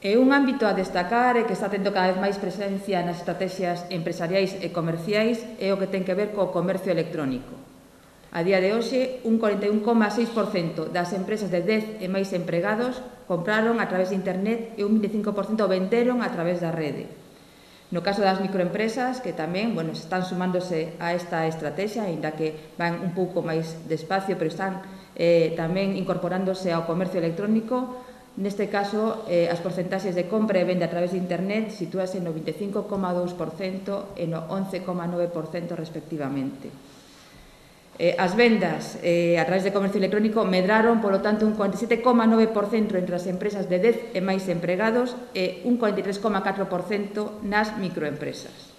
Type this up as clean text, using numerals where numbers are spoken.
E un ámbito a destacar e que está tendo cada vez máis presencia nas estrategias empresariais e comerciais é o que ten que ver co comercio electrónico. A día de hoxe, un 41,6% das empresas de 10 e máis empregados compraron a través de internet e un 25% venderon a través da rede. No caso das microempresas, que tamén están sumándose a esta estrategia, aínda que van un pouco máis despacio, pero están tamén incorporándose ao comercio electrónico. Neste caso, as porcentaxes de compra e venda a través de internet sitúase no 25,2% e no 11,9% respectivamente. As vendas a través de comercio electrónico medraron, polo tanto, un 47,9% entre as empresas de 10 e máis empregados e un 43,4% nas microempresas.